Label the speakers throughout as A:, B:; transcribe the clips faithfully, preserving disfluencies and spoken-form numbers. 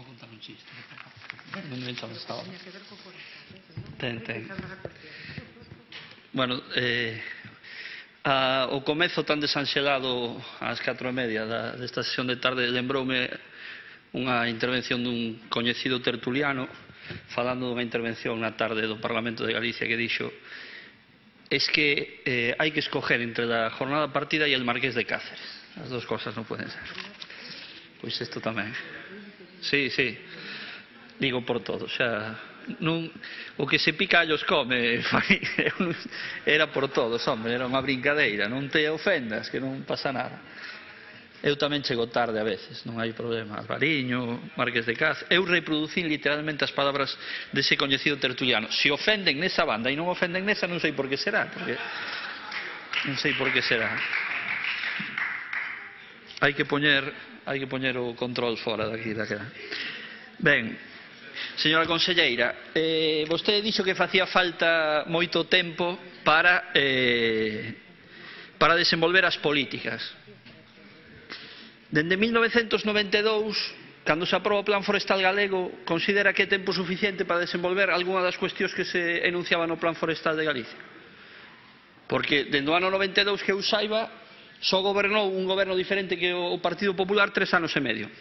A: Vou contar un chiste. Non me echan esta hora. Ten, ten. Bueno, eh, a, o comezo tan desanxelado ás catro e media da, desta sesión de tarde lembroume unha intervención dun coñecido tertuliano falando dunha intervención na tarde do Parlamento de Galicia que dixo es que eh, hai que escoger entre la jornada partida e el Marqués de Cáceres. As dos cosas non poden ser. Pois isto tamén. Sí, sí. Digo por todo. O sea, non, o que se pica allos come. Era por todos, hombre. Era unha brincadeira. Non te ofendas, que non pasa nada. Eu tamén chego tarde a veces. Non hai problema. Alvariño, Marqués de Cáceres. Eu reproducín literalmente as palabras dese coñecido tertuliano. Se ofenden nesa banda e non ofenden nesa, non sei por que será. Porque non sei por que será. Hai que poñer... hai que poñer o control fora daqui daquela. Ben, señora conselleira, eh, vostede dixo que facía falta moito tempo para eh, para desenvolver as políticas. Dende mil novecentos noventa e dous, cando se aproba o Plan Forestal Galego, considera que é tempo suficiente para desenvolver algunha das cuestións que se enunciaban no Plan Forestal de Galicia? Porque dende o ano noventa e dous que eu saiba só gobernou un goberno diferente que o Partido Popular tres anos e medio.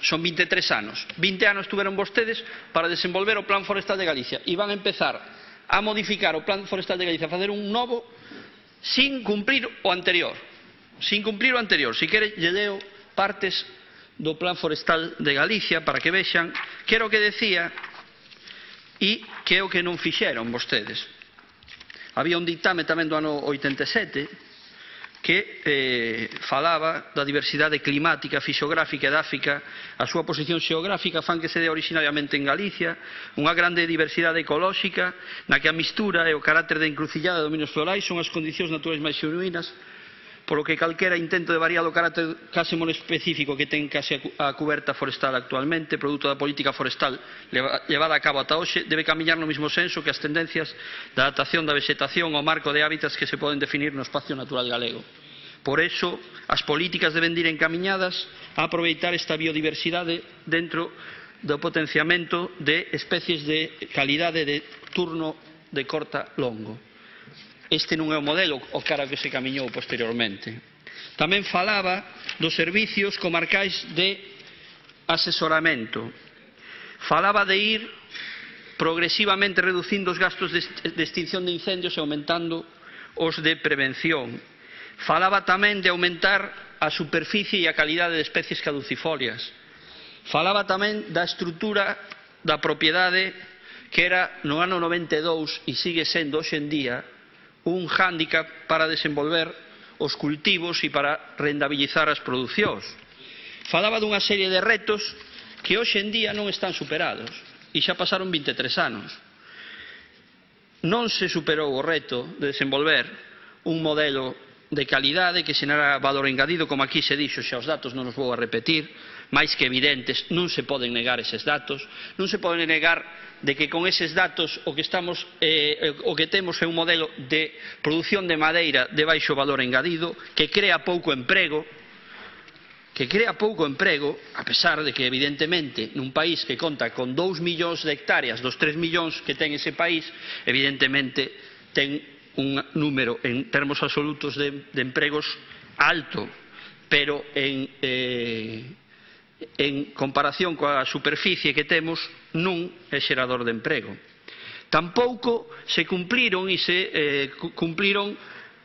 A: Son vinte e tres anos. vinte anos tuveron vostedes para desenvolver o Plan Forestal de Galicia e van a empezar a modificar o Plan Forestal de Galicia, a facer un novo sin cumplir o anterior. Sin cumplir o anterior. Si quere, lle leo partes do Plan Forestal de Galicia para que vexan que era o que decía e que é o que non fixeron vostedes. Había un dictame tamén do ano oitenta e sete que eh, falaba da diversidade climática, fisiográfica e edáfica, a súa posición xeográfica fan que se dé originariamente en Galicia, unha grande diversidade ecolóxica na que a mistura e o carácter de encrucillada de dominios florais son as condicións naturais máis xenuínas, polo que calquera intento de variar o carácter case monoespecífico que ten case a cuberta forestal actualmente, produto da política forestal levada a cabo ata hoxe, debe camiñar no mesmo senso que as tendencias da adaptación da vegetación ao marco de hábitats que se poden definir no espacio natural galego. Por eso, as políticas deben ir encaminhadas a aproveitar esta biodiversidade dentro do potenciamento de especies de calidade de turno de corta longo. Este non é o modelo o cara que se camiñou posteriormente. Tamén falaba dos servicios comarcais de asesoramento. Falaba de ir progresivamente reducindo os gastos de extinción de incendios e aumentando os de prevención. Falaba tamén de aumentar a superficie e a calidade de especies caducifolias. Falaba tamén da estrutura da propiedade que era no ano noventa e dous e sigue sendo hoxe en día un hándicap para desenvolver os cultivos e para rentabilizar as producións. Falaba dunha serie de retos que hoxe en día non están superados e xa pasaron vinte e tres anos. Non se superou o reto de desenvolver un modelo de calidade que xenera valor engadido, como aquí se dixo, xa os datos non os vou a repetir, máis que evidentes, non se poden negar eses datos, non se poden negar de que con eses datos o que estamos eh, o que temos é un modelo de produción de madeira de baixo valor engadido, que crea pouco emprego, que crea pouco emprego, a pesar de que evidentemente nun país que conta con dous millóns de hectáreas dos tres millóns que ten ese país, evidentemente ten un número en termos absolutos de, de empregos alto, pero en eh, en comparación coa superficie que temos non é xerador de emprego. Tampouco se cumpliron e se eh, cumpliron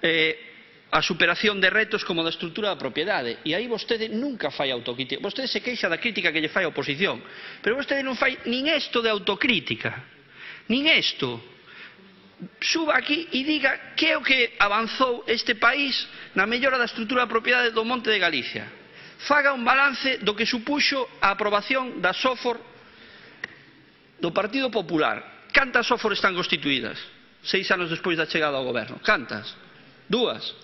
A: eh, a superación de retos como da estrutura da propiedade, e aí vostede nunca fai autocrítica. Vostede se queixa da crítica que lle fai a oposición, pero vostede non fai nin isto de autocrítica, nin isto. Suba aquí e diga que é o que avanzou este país na mellora da estrutura da propiedade do Monte de Galicia. Faga un balance do que supuxo a aprobación da SOFOR do Partido Popular. Cantas SOFOR están constituídas? Seis anos despois da chegada ao goberno. Cantas? Dúas.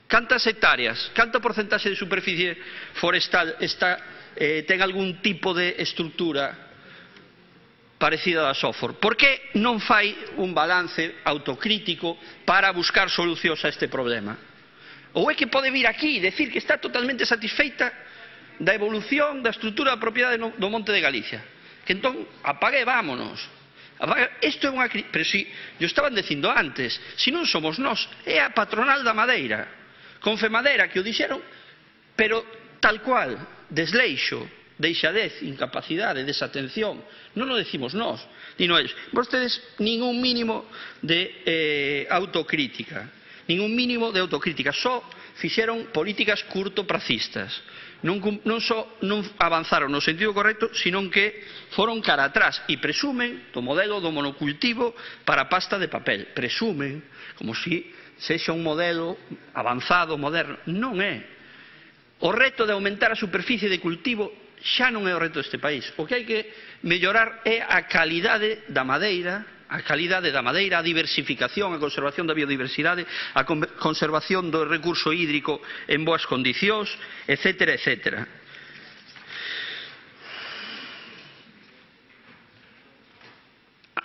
A: Cantas hectáreas? Canta porcentaxe de superficie forestal está, eh, ten algún tipo de estrutura parecida da SOFOR? Por que non fai un balance autocrítico para buscar solucións a este problema? Ou é que pode vir aquí e decir que está totalmente satisfeita da evolución da estrutura da propiedade do Monte de Galicia. Que entón, apague e vámonos. Isto é unha... Pero si, yo estaban dicindo antes, se non somos nós, é a patronal da madeira, con Femadeira, que o dixeron, pero tal cual, desleixo, deixadez, incapacidade, desatención, non o decimos nós, dino eles. Vostedes, ningún mínimo de eh, autocrítica, ningún mínimo de autocrítica, só fixeron políticas curtopracistas. Non, non só non avanzaron no sentido correcto, senón que foron cara atrás e presumen do modelo do monocultivo para pasta de papel. Presumen, como se sexa un modelo avanzado, moderno. Non é. O reto de aumentar a superficie de cultivo xa non é o reto deste país. O que hai que mellorar é a calidade da madeira, a calidade da madeira, a diversificación, a conservación da biodiversidade, a conservación do recurso hídrico en boas condicións, etcétera, etcétera.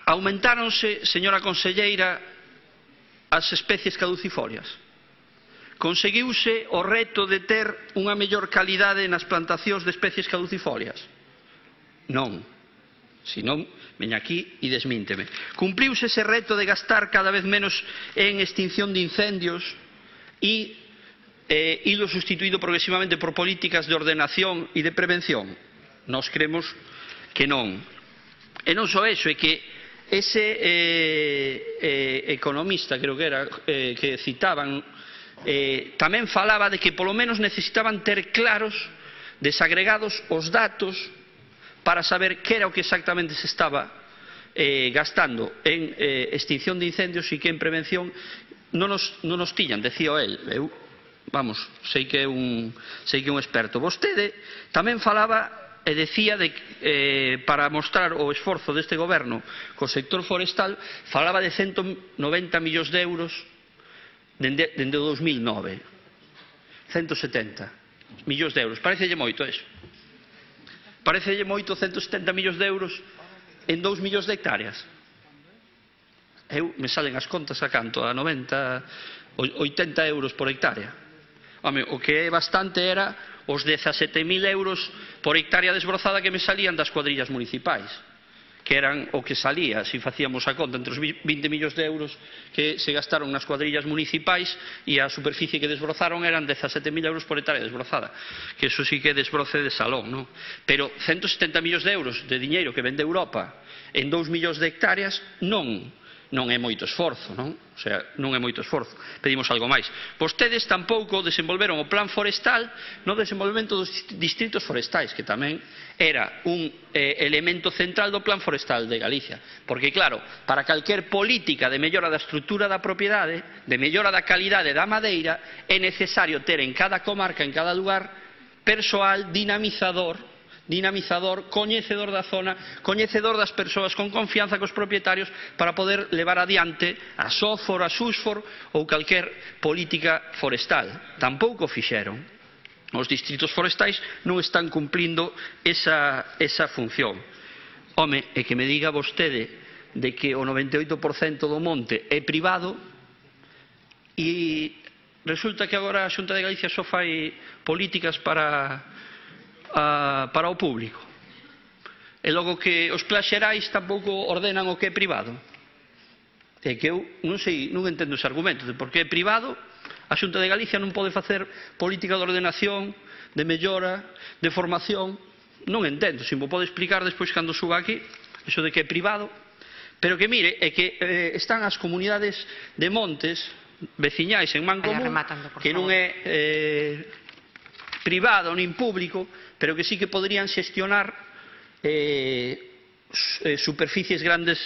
A: Aumentáronse, señora conselleira, as especies caducifolias. Conseguiuse o reto de ter unha mellor calidade nas plantacións de especies caducifolias? Non. Se non, veña aquí e desmínteme. Cumpliuse ese reto de gastar cada vez menos en extinción de incendios e eh, ilo sustituído progresivamente por políticas de ordenación e de prevención? Nós cremos que non. E non só eso, é que ese eh, eh, economista, creo que era, eh, que citaban, Eh, tamén falaba de que polo menos necesitaban ter claros, desagregados os datos para saber que era o que exactamente se estaba eh, gastando en eh, extinción de incendios e que en prevención non nos, non nos tiñan, decía el. Eu, vamos, sei que é un, sei que é un experto. Vostede tamén falaba e decía de, eh, para mostrar o esforzo deste goberno co sector forestal, falaba de ciento noventa millóns de euros dende, dende o dos mil nove. ciento setenta millóns de euros. Parecelle moito eso? Parecelle moito ciento setenta millóns de euros en dous millóns de hectáreas? Eu me salen as contas a canto? A noventa, oitenta euros por hectárea. Home, o que é bastante era os dezasete mil euros por hectárea desbrozada que me salían das cuadrillas municipais, que eran o que salía, se facíamos a conta, entre os vinte millóns de euros que se gastaron nas cuadrillas municipais e a superficie que desbrozaron eran dezasete mil euros por hectárea desbrozada, que eso sí que é desbroce de salón, non? Pero ciento setenta millóns de euros de diñeiro que vende Europa en dous millóns de hectáreas non non é moito esforzo, non? O sea, non é moito esforzo. Pedimos algo máis. Vostedes tampouco desenvolveron o plan forestal no desenvolvemento dos distritos forestais, que tamén era un eh, elemento central do plan forestal de Galicia. Porque, claro, para calquer política de mellora da estrutura da propiedade, de mellora da calidade da madeira, é necesario ter en cada comarca, en cada lugar, persoal dinamizador dinamizador, coñecedor da zona, coñecedor das persoas, con confianza cos propietarios, para poder levar adiante a SOFOR, a SUSFOR ou calquer política forestal. Tampouco fixeron. Os distritos forestais non están cumplindo esa, esa función. Home, e que me diga vostede de que o noventa e oito por cento do monte é privado e resulta que agora a Xunta de Galicia só fai políticas para Uh, para o público. E logo que os plans xerais tampouco ordenan o que é privado. É que eu non sei, non entendo ese argumento de por que é privado, a Xunta de Galicia non pode facer política de ordenación, de mellora, de formación. Non entendo, se me pode explicar despois cando suba aquí, eso de que é privado. Pero que mire, é que eh, están as comunidades de montes veciñais en Mancomún, que non é eh, privado nin público, pero que sí que podrían xestionar eh, superficies grandes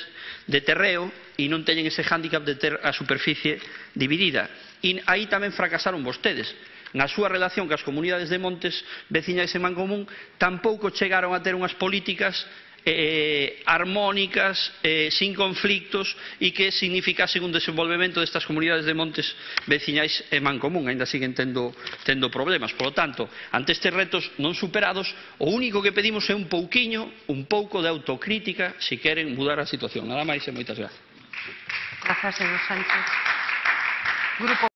A: de terreo e non teñen ese hándicap de ter a superficie dividida. E aí tamén fracasaron vostedes. Na súa relación cas comunidades de montes veciñais en Mancomún tampouco chegaron a ter unhas políticas eh, armónicas, eh, sin conflictos e que significasen un desenvolvemento destas comunidades de montes veciñais en Mancomún. Ainda siguen tendo, tendo problemas. Por lo tanto, ante estes retos non superados, o único que pedimos é un pouquiño, un pouco de autocrítica se queren mudar a situación. Nada máis e moitas gracias.
B: Grazas, señor Sánchez. Grupo